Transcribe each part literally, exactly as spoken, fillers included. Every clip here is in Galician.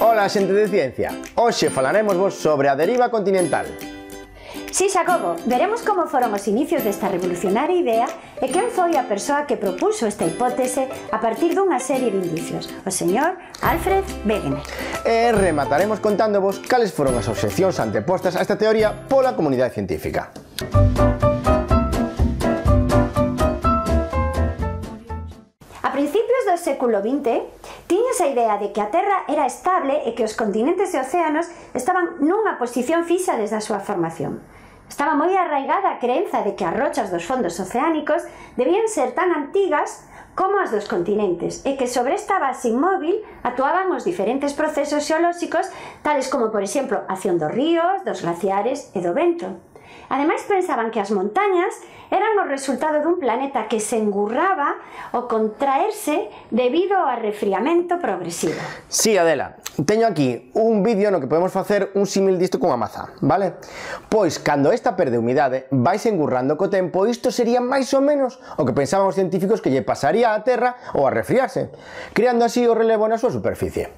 Ola, xente de ciencia! Hoxe falaremosvos sobre a deriva continental. Si, Xacobo, veremos como foron os inicios desta revolucionaria idea e quen foi a persoa que propuso esta hipótese a partir dunha serie de indicios, o señor Alfred Wegener. E remataremos contándovos cales foron as obxeccións antepostas a esta teoría pola comunidade científica. A principios do século vinte, tiñas a idea de que a Terra era estable e que os continentes e océanos estaban nunha posición fixa desde a súa formación. Estaba moi arraigada a creenza de que as rochas dos fondos oceánicos debían ser tan antigas como as dos continentes e que sobre esta base inmóvil actuaban os diferentes procesos xeolóxicos tales como, por exemplo, a acción dos ríos, dos glaciares e do vento. Ademais, pensaban que as montañas eran o resultado dun planeta que se engurraba ao contraerse debido ao arrefriamento progresivo. Sí, Adela, teño aquí un vídeo no que podemos facer un símil disto cunha maza, vale? Pois, cando esta perde humidade, vais engurrando co tempo, isto sería máis ou menos o que pensaban os científicos que lle pasaría á Terra ao arrefriarse, creando así o relevo na súa superficie.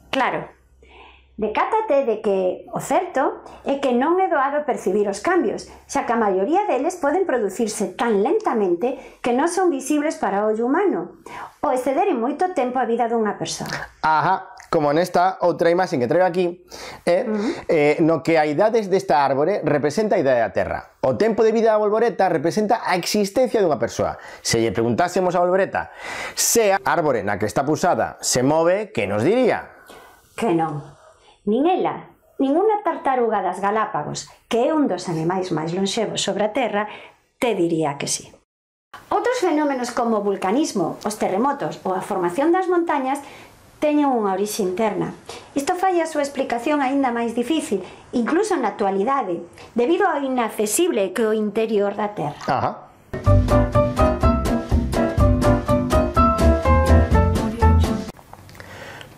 Claro. Decátate de que o certo é que non é doado percibir os cambios, xa que a maioría deles poden producirse tan lentamente que non son visibles para o ollo humano ou exceder en moito tempo a vida dunha persoa. Ajá, como nesta outra imaxe que traigo aquí, eh, uh -huh. eh, no que a idade desta árbore representa a idade da Terra. O tempo de vida da bolboreta representa a existencia dunha persoa. Se lle preguntásemos a bolboreta se a árbore na que está pusada se move, que nos diría? Que non. Nin ela, nin unha tartaruga das Galápagos, que é un dos animais máis lonxevos sobre a Terra, te diría que sí. Outros fenómenos como o vulcanismo, os terremotos ou a formación das montañas teñen unha orixe interna. Isto fai a súa explicación aínda máis difícil, incluso na actualidade, debido ao inaccesible que é o interior da Terra. Ajá.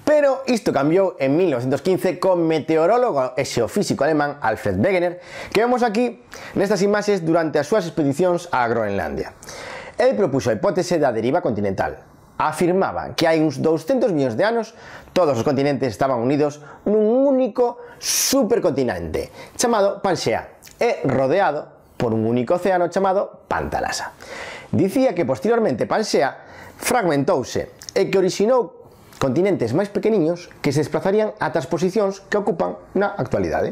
Pero isto cambiou en mil novecentos quince co meteorólogo e xeofísico alemán Alfred Wegener, que vemos aquí nestas imaxes durante as súas expedicións a Groenlandia. El propuxo a hipótese da deriva continental. Afirmaba que hai uns douscentos millóns de anos todos os continentes estaban unidos nun único supercontinente chamado Panxea e rodeado por un único océano chamado Pantalasa. Dicía que posteriormente Panxea fragmentouse e que orixinou continentes máis pequeniños que se desplazarían ata as posicións que ocupan na actualidade.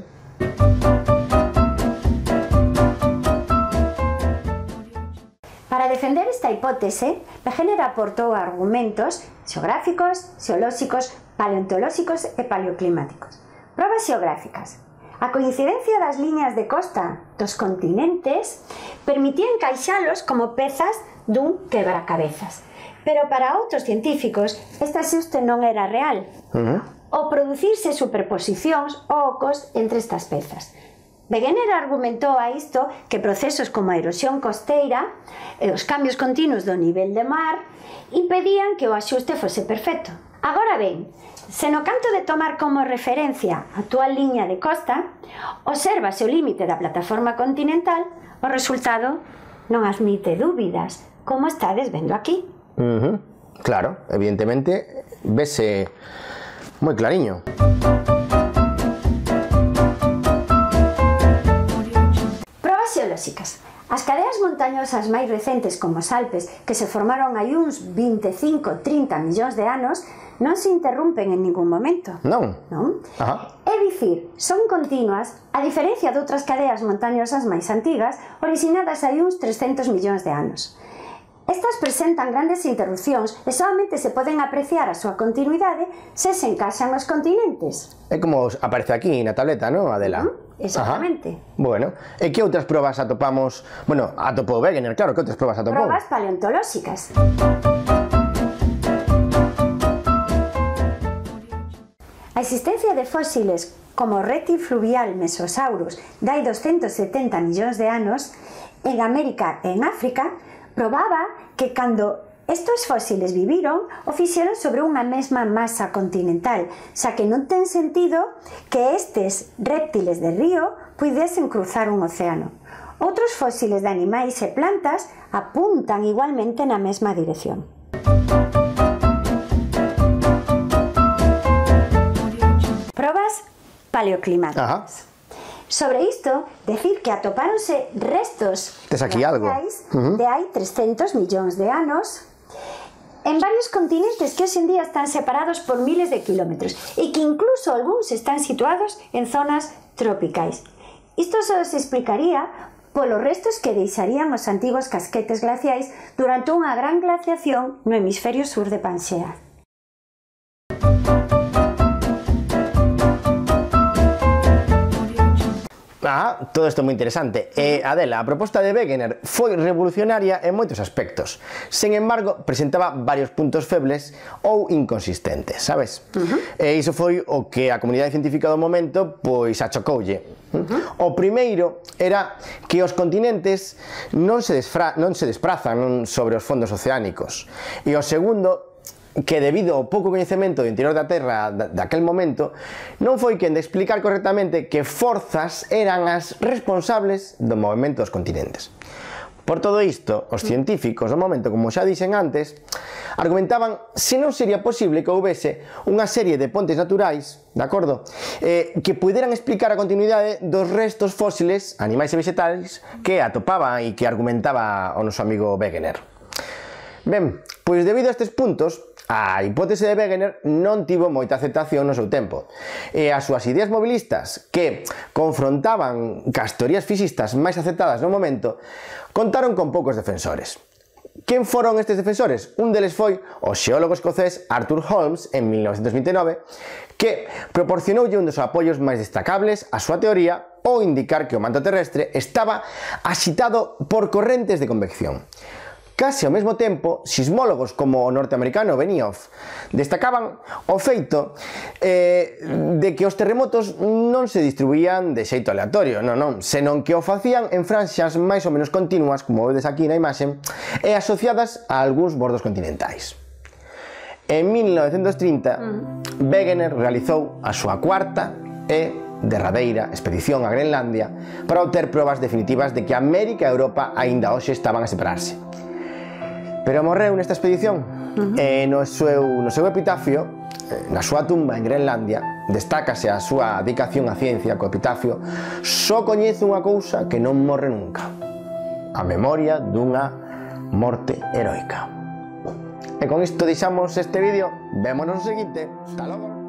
Para defender esta hipótese, Wegener aportou argumentos xeográficos, xeolóxicos, paleontolóxicos e paleoclimáticos. Probas xeográficas. A coincidencia das liñas de costa dos continentes permitía encaixalos como pezas dun quebracabezas. Pero para outros científicos, este axuste non era real. Uh-huh. O producirse superposicións ou ocos entre estas pezas. Wegener argumentou a isto que procesos como a erosión costeira e os cambios continuos do nivel de mar impedían que o axuste fose perfecto. Agora ben, se no canto de tomar como referencia a actual liña de costa, obsérvase o límite da plataforma continental, o resultado non admite dúbidas, como estades vendo aquí. Uh-huh. Claro, evidentemente vese moi clariño. Probas xeolóxicas. As cadeas montañosas máis recentes como os Alpes, que se formaron hai uns veinticinco a trinta millóns de anos, non se interrompen en ningún momento. Non? Non? Ajá. É dicir, son continuas, a diferencia de outras cadeas montañosas máis antigas, originadas hai uns trescentos millóns de anos. Estas presentan grandes interrupcións e solamente se poden apreciar a súa continuidade se se encaixan os continentes. É como aparece aquí na tableta, non, Adela? Uh-huh, exactamente. Ajá. Bueno, e que outras probas atopamos? Bueno, atopou Wegener, claro, que outras probas atopou? Probas paleontolóxicas. A existencia de fósiles como o réptil fluvial Mesosaurus de hai doscientos setenta millóns de anos en América e en África probaba que cando estes fósiles viviron o fixeron sobre unha mesma masa continental, xa que non ten sentido que estes réptiles de río puidesen cruzar un océano. Outros fósiles de animais e plantas apuntan igualmente na mesma dirección. paleoclimáticas. Ajá. Sobre isto, decir que atopáronse restos Tes aquí algo. uh-huh. de hai trescentos millóns de anos en varios continentes que hoxe en día están separados por miles de kilómetros e que incluso algúns están situados en zonas tropicais. Isto só se explicaría polos restos que deixarían os antigos casquetes glaciais durante unha gran glaciación no hemisferio sur de Pangea. Ah, todo isto é moi interesante. E, Adela, a proposta de Wegener foi revolucionaria en moitos aspectos. Sen embargo, presentaba varios puntos febles ou inconsistentes, sabes? Uh-huh. E iso foi o que a comunidade científica do momento pois achocoulle. Uh-huh. O primeiro era que os continentes non se, desfra non se desprazan non sobre os fondos oceánicos. E o segundo, que debido ao pouco coñecemento do interior da Terra daquel momento, non foi quen de explicar correctamente que forzas eran as responsables do movimento dos continentes. Por todo isto, os científicos do momento, como xa dixen antes, argumentaban se non sería posible que houbese unha serie de pontes naturais, de acordo, eh, que puderan explicar a continuidade dos restos fósiles, animais e vegetais, que atopaba e que argumentaba o noso amigo Wegener. Ben, pois debido a estes puntos, a hipótese de Wegener non tivo moita aceptación no seu tempo, e as súas ideas mobilistas, que confrontaban cas teorías físicas máis aceptadas no momento, contaron con poucos defensores. Quen foron estes defensores? Un deles foi o xeólogo escocés Arthur Holmes en mil novecentos vinte e nove, que proporcionoulle un dos apoios máis destacables á súa teoría ao indicar que o manto terrestre estaba axitado por correntes de convección. Case ao mesmo tempo, sismólogos como o norteamericano Benioff destacaban o feito eh, de que os terremotos non se distribuían de xeito aleatorio, non, non, senón que o facían en franxas máis ou menos continuas, como vedes aquí na imaxe, e asociadas a algúns bordos continentais. En mil novecentos trinta, Wegener realizou a súa cuarta e derradeira expedición a Groenlandia para obter probas definitivas de que América e Europa aínda hoxe estaban a separarse. Pero morreu nesta expedición. Uh-huh. E no seu, no seu epitafio, na súa tumba en Groenlandia, destácase a súa dedicación á ciencia co epitafio: só coñezo unha cousa que non morre nunca, a memoria dunha morte heroica. E con isto deixamos este vídeo. Vémonos no seguinte. Hasta logo.